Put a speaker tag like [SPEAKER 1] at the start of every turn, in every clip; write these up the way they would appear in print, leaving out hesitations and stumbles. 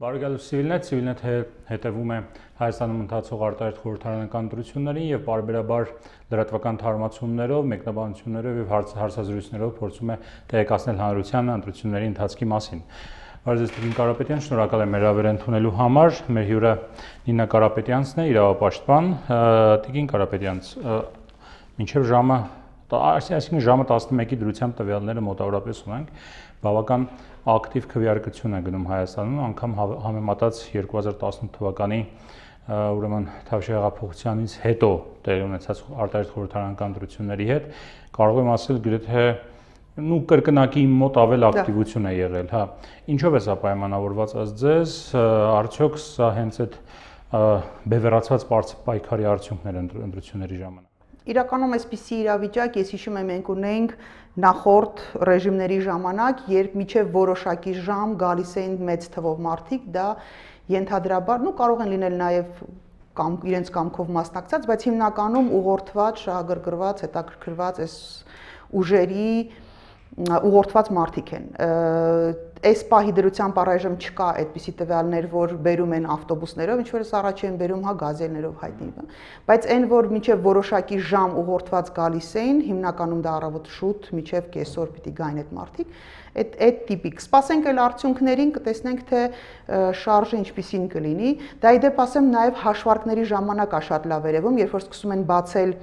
[SPEAKER 1] Բարեկալու Civilnet հետևում է Հայաստանում ընթացող արտահայտ խորհրդարանական ընտրություններին եւ պարբերաբար լրատվական թարմացումներով, մեկնաբանություններով եւ հարցազրույցներով փորձում է տեղեկացնել հանրությանը ընտրությունների ընթացքի մասին։ Բարև ձեզ, Կարապետյան, շնորհակալ եմ հրավեր ընդունելու համար։ Մեր հյուրը Նինա Կարապետյանցն է, իրավապաշտպան։ Տիկին Կարապետյանց, մինչև ժամը, այսինքն ժամը 11-ի դրությամբ տվյալները մոտավորապես ունենք, բավական ակտիվ քվեարկություն է գնում Հայաստանում, անգամ համեմատած 2018 թվականի ուրեմն Թավշյա հեղափոխությանից հետո տեղի ունեցած արտահայտ խորհրդարանական ընտրությունների հետ, կարող եմ ասել գրեթե կրկնակի մոտ ավել ակտիվություն է եղել, հա։ Ինչով է սա պայմանավորված ըստ ձեզ, արդյոք սա հենց այդ բևեռացված պայքարի արդյունքներ ընտրությունների ժամանակ։
[SPEAKER 2] Իրականում այսպիսի իրավիճակ, ես հիշում եմ, մենք ունենք նախորդ ռեժիմների ժամանակ, երբ միջև որոշակի ժամ գալիս էին մեծ թվով մարդիկ, դա ենթադրաբար, կարող են լինել նաև իրենց կամքով մասնակցած, բայց հիմնականում ուղղորդված, շահագրգռված, հետաքրքրված այս ուժերի ուղղորդված մարդիկ են։ Այս պահի դրությամբ առայժմ չկա այդպիսի տվյալներ, որ բերում են ավտոբուսներով, ինչ որ առաջ են բերում, հա, գազելներով հայտնի, բայց այն, որ մինչև որոշակի ժամ ուղղորդված գալիս էին, հիմնականում դա առավոտ շուտ, մինչև կեսօր պիտի գային այդ մարդիկ, այդ տիպիկ։ Սպասենք այլ արդյունքներին, կտեսնենք, թե շարժը ինչպիսին կլինի։ Դա ի դեպ ասեմ, նաև հաշվարկների ժամանակ է շատ լավ երևում, երբ որ սկսում են բացել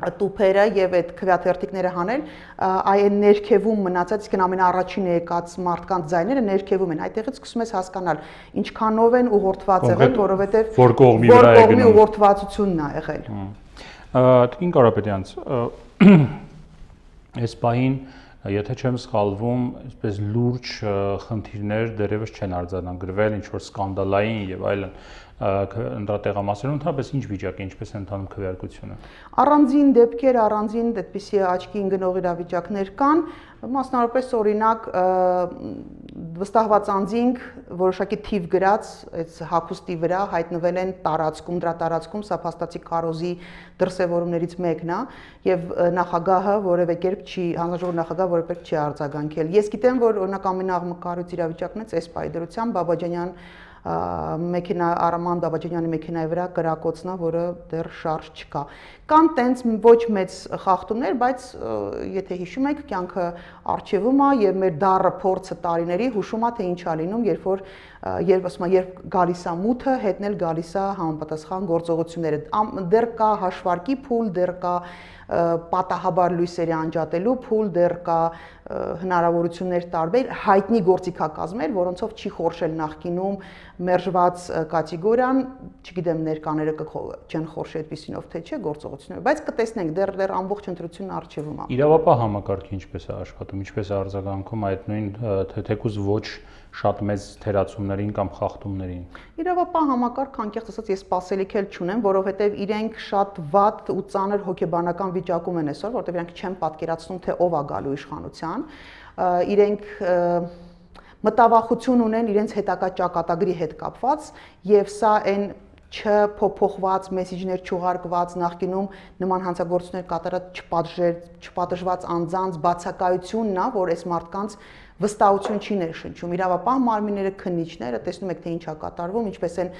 [SPEAKER 2] տուփերը եւ այդ քվեաթերթիկները հանել, այն ներքևում մնացած, իսկ ամենաառաջին եկած մարդկանց ձայները ներքևում են, այդտեղից սկսում ես հասկանալ ինչքանով են ուղղորդված եղել, որովհետեւ
[SPEAKER 1] որ կողմի վրա է գնում
[SPEAKER 2] ուղղորդվածությունն է եղել։
[SPEAKER 1] Տիկին Կարապետյանց, այս պահին, եթե չեմ սխալվում, այսպես լուրջ խնդիրներ դեռևս չեն արձանագրվել, ինչ որ սկանդալային եւ այլն ընտրատեղամասերում, ընդհանրապես ինչ վիճակ է, ինչպես է ընթանում քվեարկությունը։
[SPEAKER 2] Առանձին դեպքեր, առանձին այդպիսի աչքի ընկնող իրավիճակներ կան, մասնավորապես օրինակ վստահված անձինք որոշակի թիվ գրած այս հագուստի վրա հայտնվել են տարածքում, դրա տարածքում սա փաստացի քարոզի դրսևորումներից մեկն է եւ նախագահը որևէ կերպ չի, հանրաժողովի նախագահը որևէ կերպ չի արձագանքել։ Ես գիտեմ, որ օրինակ ամենաաղմկարույց իրավիճակն է այս պայդրությամբ Բաբաջանյան մեքենա Արման Բաբաջանյանի մեքենայի վրա կրակոցնա, որը դեռ շարժ չկա։ Կան տենց ոչ մեծ խախտումներ, բայց եթե հիշում եք, կյանքը արխիվում է եւ մեր դառը փորձը տարիների հուշում է, թե ինչ է լինում, երբ գալիս է մութը, հետն էլ գալիս է համապատասխան գործողությունները։ Դեռ կա հաշվարկի փուլ, դեռ կա պատահաբար լույսերի անջատելու փուլ, դեռ կա հնարավորություններ տարբեր, հայտնի գործիքակազմեր, որոնցով չի խորշել նախկինում մերժված կատեգորիան, չգիտեմ ներկաները չեն խորշի այդպիսինով թե չէ գործողությունները, բայց կտեսնենք դեռ ամբողջ ընտրությունն առջևում է։
[SPEAKER 1] Իրավապահ համակարգը ինչպես է աշխատում, ինչպես է արձագանքում այդ նույն թեկուզ ոչ շատ մեծ թերացումներին կամ խախտումներին։
[SPEAKER 2] Իրավապահ համակարգը անկեղծ ասած ես սպասելիք էլ չունեմ, որովհետև իրենք շատ վատ ու ծանր հոգեբանական վիճակում են այսօր, որովհետև իրենք չեն պատկերացնում, թե ով է գալու իշխանության, իրենք մտավախություն ունեն իրենց հետագա ճակատագրի հետ կապված եւ սա այն չփոփոխված, մեսիջներ չուղարկված, նախկինում նման հանցագործություններ կատարած չպատժված անձանց բացակայությունն է, որ այս մարդկանց վստահություն չի ներշնչում։ Իրավապահ մարմինները, քննիչները տեսնում եք, թե ինչ է կատարվում, ինչպես են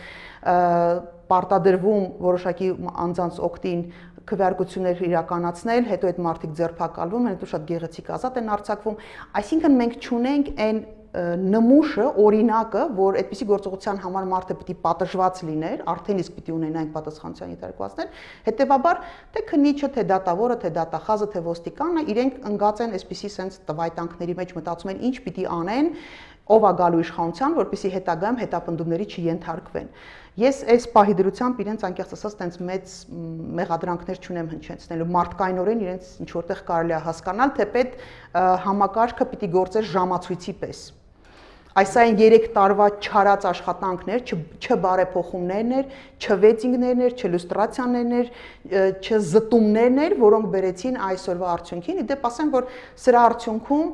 [SPEAKER 2] պարտադրվում որոշակի անձանց օգտին քվեարկություններ իրականացնել, հետո այդ մարդիկ ձերբակալվում են, հետո շատ գեղեցիկ ազատ են արձակվում։ Այսինքն մենք չունենք այն նմուշը, օրինակը, որ այդպիսի գործողության համար մարդը պիտի պատժված լիներ, արդեն իսկ պիտի ունենային պատասխանատվության ենթարկվածներ, հետեւաբար թե քննիչը, թե դատավորը, թե դատախազը, թե ոստիկանը իրենք ընկած են այսպիսի sense տվայտանքների մեջ, մտածում են ինչ պիտի անեն, ով է գալու իշխանության, որպեսզի հետագայում հետապնդումների չենթարկվեն։ Ես այս պահի դրությամբ իրենց անկեղծ ասած տենց մեծ մեղադրանքներ չունեմ հնչեցնելու, մարդկայնորեն իրենց ինչ որտեղ կարելի է հասկանալ, թե պետ համակարգը պիտի գործեր ժամացույցի պես։ Այս այն 3 տարվա չարած աշխատանքներ, չբարեփոխումներն էր, չվեծինգներն էր, չլյուստրացիաներն էր, չզտումներն էր, որոնք բերեցին այսօրվա արդյունքին։ Իդեպ ասեմ, որ սրա արդյունքում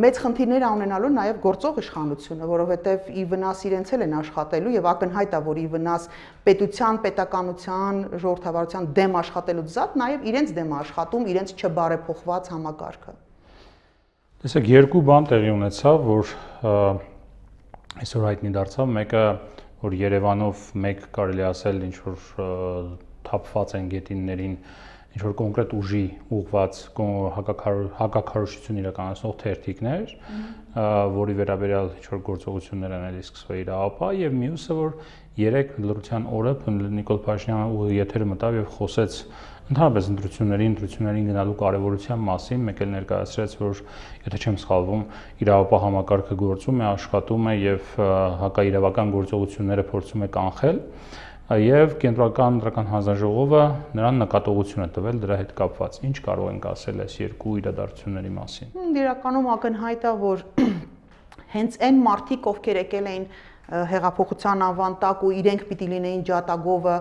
[SPEAKER 2] մեծ խնդիրներ ունենալու նաև գործող իշխանությունը, որովհետև ի վնաս իրենց էլ են աշխատելու եւ ակնհայտ է, որ ի վնաս պետության, պետականության, ժողովրդավարության դեմ աշխատելուց զատ նաև իրենց դեմ աշխատում, իրենց չբարեփոխված համակարգը։
[SPEAKER 1] Տեսեք, երկու բան տեղի ունեցավ, որ այսօր հայտնի դարձավ, մեկը որ Երևանով մեկ կարելի ասել ինչ որ թափված են գետիններին ինչ որ կոնկրետ ուժի ուղված հակակարողություն իրականացնող թերթիկներ, որի վերաբերյալ ինչ որ գործողություններ են էլի սկսվել իրավապահ, եւ մյուսը որ երեք լրության օրը Նիկոլ Փաշինյանը ուղիղ եթերը մտավ եւ խոսեց ընդհանրապես ընտրություններին գնալու կարևորության մասին, մեկ էլ ներկայացրեց, որ եթե չեմ սխալվում, իրավապահ համակարգը գործում է, աշխատում է եւ հակաիրավական գործողությունները փորձում է կանխել, եւ կենտրոնական ընտրական հանձնաժողովը նրան նկատողություն է տվել դրա հետ կապված։ Ինչ կարող ենք ասել այս երկու իրադարձությունների մասին։
[SPEAKER 2] Իրականում ակնհայտ է, որ հենց այն մարդիկ, ովքեր եկել էին հեղափոխության անվան տակ ու իրենք պիտի լինեին ջատագովը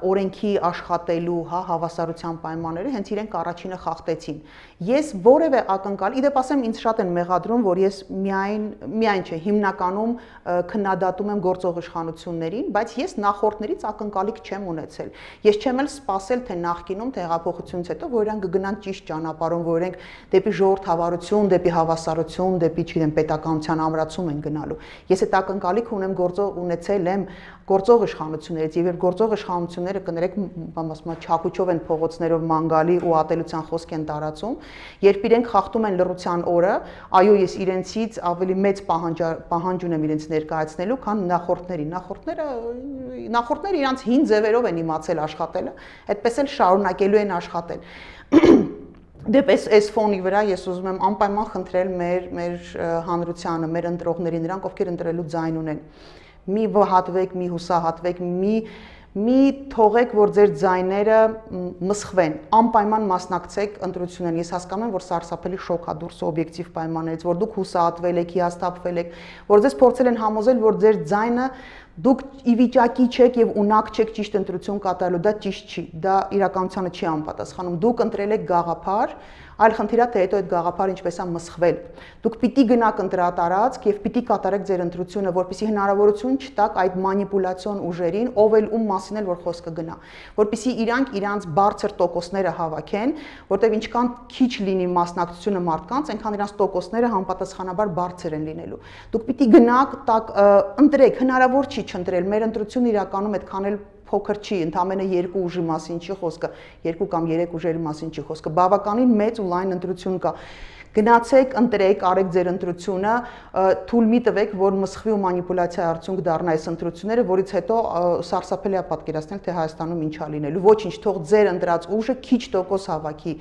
[SPEAKER 2] օրենքի աշխատելու, հավասարության պայմանները, հենց իրենք առաջինը խախտեցին։ Ես որևէ ակնկալ, իդեպ ասեմ, ինձ շատ են մեղադրում, որ ես միայն չէ, հիմնականում քննադատում եմ գործող իշխանություններին, բայց ես նախորդներից ակնկալիք չեմ ունեցել։ Ես չեմ էլ սպասել, թե նախկինում, թե հեղափոխությունից հետո, որ իրենք կգնան ճիշտ ճանապարհով, որ իրենք դեպի ժողովրդավարություն, դեպի հավասարություն, դեպի, չգիտեմ, պետականության ամրացում են գնալու։ Ես այդ ակնկալիք ունեցել եմ գործող իշխանություններից, եւ գործող իշխանությունները կներեք չակուչով են փողոցներով մանգալի ու ատելության խոսք են տարածում, երբ իրենք խախտում են լռության օրը, այո, ես իրենցից ավելի մեծ պահանջ ունեմ իրենց ներկայացնելու, քան նախորդների։ Նախորդները իրանց հին ձևերով են իմացել աշխատելը, այդպես էլ շարունակելու են աշխատել։ Դեպ այս ֆոնի վրա ես ուզում եմ անպայման խնդրել մեր հանրությանը, մեր ընտրողներին, նրանք ովքեր ընտրելու ձայն ունեն, մի վհատվեք, մի հուսահատվեք, մի թողեք, որ ձեր ձայները մսխվեն, անպայման մասնակցեք ընտրություններին։ Ես հասկանում եմ, որ սարսափելի շոկ է դուրս օբյեկտիվ պայմաններից, որ դուք հուսահատվել եք, հիասթափվել եք, որ ձեզ փորձել են համոզել, որ ձեր ձայնը դուք ի վիճակի չեք եւ ունակ չեք ճիշտ ընտրություն կատարելու, դա ճիշտ չի, դա իրականությանը չի անպատասխանում։ Դուք ընտրել եք գաղափար, այլ խնդիրը թե հետո այդ գաղափարը ինչպես է մսխվել։ Դուք պիտի գնաք ընտրատարածք եւ պիտի կատարեք ձեր ընտրությունը, որպեսզի հնարավորություն չտաք այդ մանիպուլյացիոն ուժերին, ով էլ ում մասին էլ որ խոսքը գնա, որպեսզի իրանք իրանց բարձր տոկոսները հավաքեն, որտեղ ինչքան քիչ լինի մասնակցությունը մարդկանց, այնքան իրանց տոկոսները համապատասխանաբար բարձր են լինելու։ Դուք պիտի գնաք, ընտրեք, հնարավոր չի չընտրել, մեր ընտրությունը իրականում այդքան էլ փոքր չի, ընդամենը երկու ուժի մասին չի խոսքը, երկու կամ երեք ուժերի մասին չի խոսքը, բավականին մեծ ու լայն ընտրություն կա։ Գնացեք, ընտրեք, արեք ձեր ընտրությունը, թույլ մի տվեք, որ մսխվի ու մանիպուլյացիա արդյունք դառնա այս ընտրությունները, որից հետո սարսափելի է պատկերացնել, թե Հայաստանում ինչ է լինելու։ Ոչինչ, թող ձեր ընտրած ուժը քիչ տոկոս հավաքի,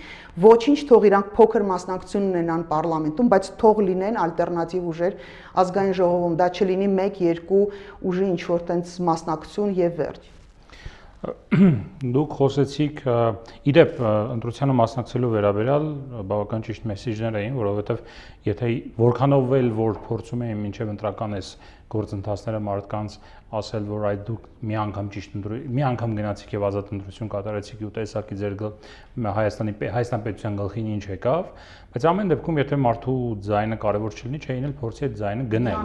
[SPEAKER 2] ոչինչ, թող իրանք փոքր մասնակցություն ունենան պարլամենտում, բայց թող լինեն ալտերնատիվ ուժեր ազգային ժողովում, դա չլինի 1-2 ուժի ինչ-որ տենց մասնակցություն եւ վերջ։
[SPEAKER 1] Դուք խոսեցիք, իդեպ ընտրությանը մասնակցելու վերաբերյալ բավական ճիշտ մեսեջներ էին, որովհետև եթե որքանով էլ որ փորձում էին մինչև ընտրական այս գործընթացները մարդկանց ասել, որ այդ դուք մի անգամ գնացիք եւ ազատ ընտրություն կատարեցիք ու տեսակի ձեր Հայաստան պետության գլխին ինչ եկավ, բայց ամեն դեպքում եթե մարդու ձայնը կարևոր չլինի, չէին էլ փորձի այդ ձայնը գնել։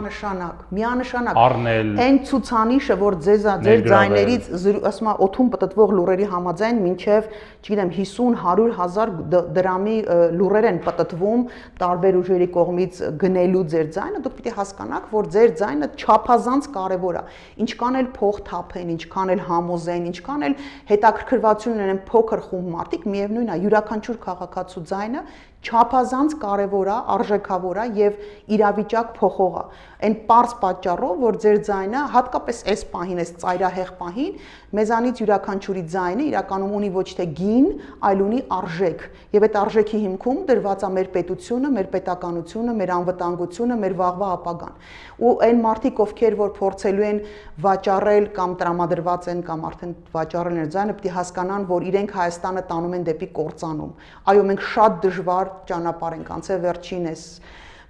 [SPEAKER 2] Միանշանակ
[SPEAKER 1] առնել
[SPEAKER 2] այն ցուցանիշը, որ ձեր ձայներից ասում եմ օթում պտտվող լուրերի համաձայն մինչև, չգիտեմ, 50-100 հազար դրամի լուրեր են պտտվում տարբեր ուժերի կողմից գնելու ձեր ձայնը, դուք պիտի հասկանաք, որ ձեր ձայնը չափազանց կարևոր է։ Ինչքան էլ փող թափեն, ինչքան էլ համոզեն, ինչքան էլ հետաքրքրվածություն ունեն փոքր խումբ մարդիկ, միևնույն է, յուրաքանչյուր քաղաքացու ձայնը չափազանց կարևոր է, արժեքավոր է եւ իրավիճակ փոխող է։ Այն պարզ պատճառով, որ ձեր ձայնը հատկապես այս պահին, այս ծայրահեղ պահին, մեզանից յուրաքանչյուրի ձայնը իրականում ունի ոչ թե գին, այլ ունի արժեք։ Եվ այդ արժեքի հիմքում դրված է մեր պետությունը, մեր պետականությունը, մեր անվտանգությունը, մեր վաղվա ապագան։ Ու այն մարդիկ, ովքեր որ փորձելու են վաճառել կամ տրամադրված են կամ արդեն վաճառել են ձայնը, պետք է հասկանան, որ իրենք Հայաստանը տանում են դեպի կործանում։ Այո, մենք շատ դժվար ճանապարհ ենք անցել վերջինս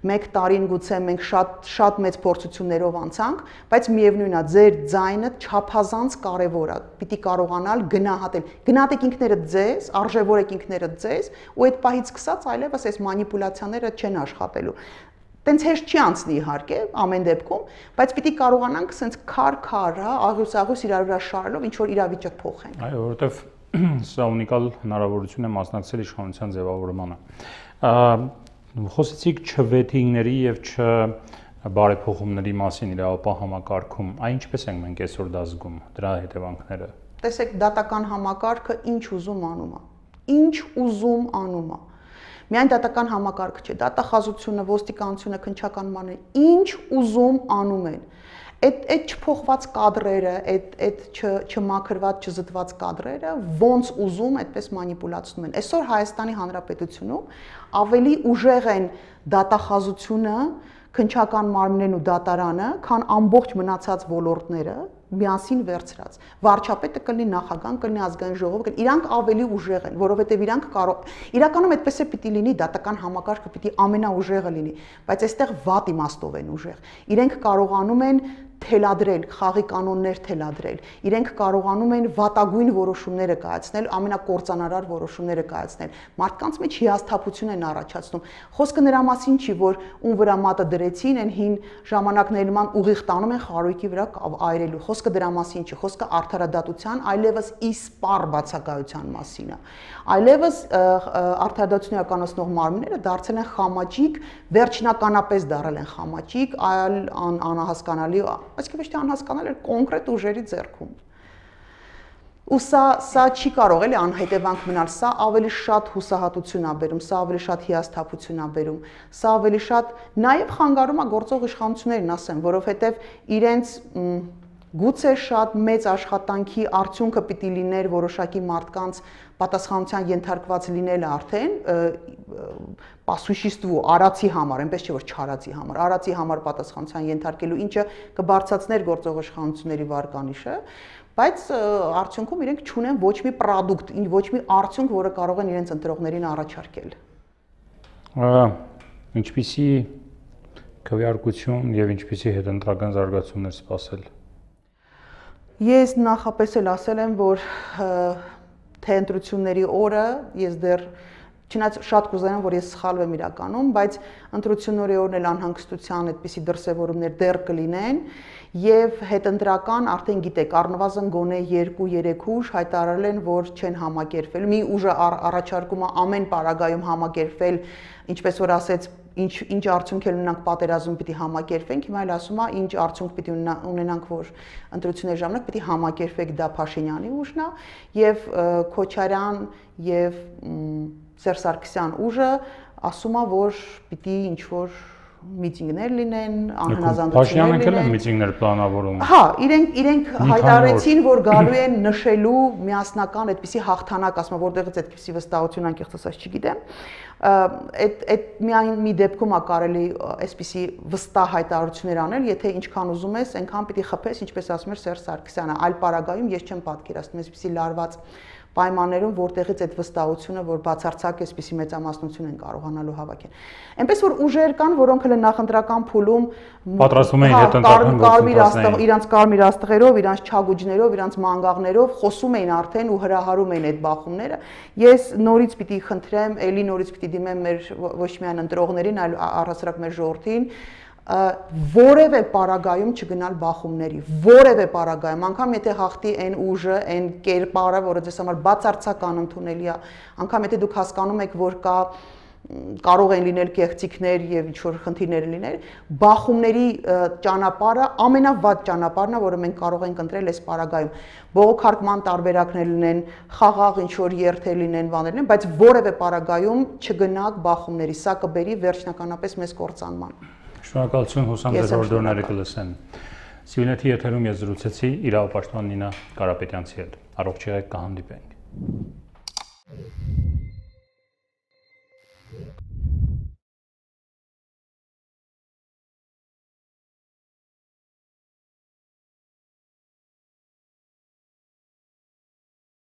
[SPEAKER 2] 1 տարին գուցե մենք շատ մեծ փորձություններով անցանք, բայց միևնույն է, ձեր ձայնը չափազանց կարևոր է։ Պիտի կարողանալ գնահատել։ Գնահատեք ինքներդ ձեզ, արժևորեք ինքներդ ձեզ, ու այդ պահից սկսած այլևս այս մանիպուլյացիաները չեն աշխատելու։ Տենց հեշտ չի անցնի իհարկե, ամեն դեպքում, բայց պիտի կարողանանք սենց քար, աղյուս իրար վրա շարելով ինչ որ իրավիճակ փոխենք։
[SPEAKER 1] Այո, որովհետև սա ունիկալ հնարավորություն է մասնակցել իշխանության ձևավորմանը։ Խոսեցիք չվեթինգների եւ բարեփոխումների մասին իրավապահ համակարգում, այն ինչպես ենք մենք այսօր դա զգում, դրա հետևանքները։
[SPEAKER 2] Տեսեք, դատական համակարգը ինչ ուզում անում է։ Ինչ ուզում անում է։ Միայն դատական համակարգը չէ, դատախազությունը, ոստիկանությունը, քննչական մարմինը ինչ ուզում անում են։ Այդ չփոխված կադրերը, այդ չմաքրված, չզտված կադրերը ոնց ուզում այդպես մանիպուլացնում են։ Այսօր Հայաստանի Հանրապետությունում ավելի ուժեղ են դատախազությունը, քննչական մարմիններն ու դատարանը, քան ամբողջ մնացած ոլորտները միասին վերցրած։ Վարչապետը կլինի, նախագահան կլինի, ազգային ժողովը, իրանք ավելի ուժեղ են, որովհետև իրանք իրականում այդպես է պիտի լինի, դատական համակարգը պիտի ամենաուժեղը լինի, բայց այստեղ վատ իմաստով են ուժեղ։ Իրենք կարողանում են թելադրել, խաղի կանոններ թելադրել։ Իրենք կարողանում են վատագույն որոշումները կայացնել, ամենակործանարար որոշումները կայացնել։ Մարդկանց մեջ հիասթափություն են առաջացնում։ Խոսքը նրա մասին չի, որ ում վրա մատը դրեցին, այն հին ժամանակների նման ուղիղ տանում են խարույկի վրա այրելու։ Խոսքը դրա մասին չի, խոսքը արդարադատության, այլևս իսպառ բացակայության մասին է։ Այլևս արդարադատություն իրականացնող մարմինները դարձել են խամաճիկ, վերջնականապես դարել են խամաճիկ, այլ անհասկանալի, այսինքն ոչ թե անհասկանալի, այլ կոնկրետ ուժերի ձեռքում։ Ու սա չի կարող էլի անհետևանք մնալ, սա ավելի շատ հուսահատություն է բերում, սա ավելի շատ հիասթափություն է բերում, սա ավելի շատ նաև խանգարում է գործող իշխանություններին, ասեմ, որովհետև իրենց գուցե շատ մեծ աշխատանքի արդյունքը պիտի լիներ որոշակի մարդկանց պատասխանության ենթարկված լինելը արդեն պասուշիստվու արածի համար, այնպես չէ որ չարածի համար, արածի համար պատասխանության ենթարկելու, ինչը կբարձրացներ գործող իշխանությունների վարկանիշը, բայց արդյունքում իրենք չունեն ոչ մի պրոդուկտ, ոչ մի արդյունք, որը կարող են իրենց ընտրողներին առաջարկել։
[SPEAKER 1] Ինչպիսի քվեարկություն եւ ինչպիսի հետընտրական զարգացումներ սպասել։
[SPEAKER 2] Ես նախապես էլ ասել եմ, որ թե ընտրությունների օրը ես դեռ չնայած շատ կուզենամ, որ ես սխալվեմ իրականում, բայց ընտրությունների օրն էլ անհանգստության այդպիսի դրսևորումներ դեռ կլինեն եւ հետընտրական արդեն գիտեք, առնվազն գոնե 2-3 ուժ հայտարարել են, որ չեն համակերպվել։ Մի ուժը առաջարկում է ամեն պարագայում համակերպվել, ինչպես որ ասեց, ինչ արդյունք էլ ունենանք պատերազմ պիտի համակերպենք, հիմա էլ ասում է ինչ արդյունք պիտի ունենանք, որ ընտրությունների ժամանակ պիտի համակերպեք, դա Փաշինյանի ուժն է եւ Քոչարյան եւ Սերժ Սարգսյան ուժը ասում է, որ պիտի ինչ որ միտինգներ լինեն, անհնազանդություններ լինեն։
[SPEAKER 1] Փաշինյանը միտինգներ պլանավորում։
[SPEAKER 2] Հա, իրենք հայտարարեցին, որ գալու են նշելու միասնական այդպիսի հաղթանակ, ասում եմ, որտեղից այդպիսի վստահություն անկեղծ ասած չգիտեմ։ Այդ միայն մի դեպքում է կարելի այսպիսի վստահ հայտարարություններ անել, եթե ինչքան ուզում ես, այնքան պիտի խփես, ինչպես ասում էր Սերժ Սարգսյանը, այլ պարագայում ես չեմ պատկերացնում այսպիսի լարված պայմաններում, որտեղից այդ վստահությունը, որ բացարձակ այսպիսի մեծամասնություն են կարողանալու հավաքել։ Այնպես որ ուժեր կան, որոնք հենց նախընտրական փուլում
[SPEAKER 1] պատրաստվում էին հետընտրական գործընթացներին,
[SPEAKER 2] իրանց կարմիր աստղերով, իրանց չագուջներով, իրանց մանգաղներով խոսում էին արդեն ու հրահարում էին այդ բախումները։ Ես նորից պիտի խնդրեմ, ելի նորից պիտի դիմեմ մեր ոչ միայն ընտրողներին, այլ առհասարակ մեր ժողովրդին, որևէ պարագայում չգնալ բախումների, որևէ պարագայում, անգամ եթե հաղթի այն ուժը, այն կերպարը, որը ձեզ համար բացարձակ անընդունելի է, անգամ եթե դուք հասկանում եք, որ կարող են լինել կեղծիքներ եւ ինչ որ խնդիրներ լինել, բախումների ճանապարհը ամենավատ ճանապարհն է, որը մենք կարող ենք ընտրել այս պարագայում։ Բողոքարկման տարբերակներ լինեն, խաղաղ ինչ որ երթեր լինեն, բաներ լինեն, բայց որևէ պարագայում չգնաք բախումների, սա կբերի վերջնականապես մեզ կործանման։
[SPEAKER 1] Շնորհակալություն, հուսամ ձեր օրդորները կլսեն։ Սիվիլնեթի եթերում ես զրուցեցի իրավապաշտպան Նինա Կարապետյանցի հետ։ Առողջ եղեք, կհանդիպենք։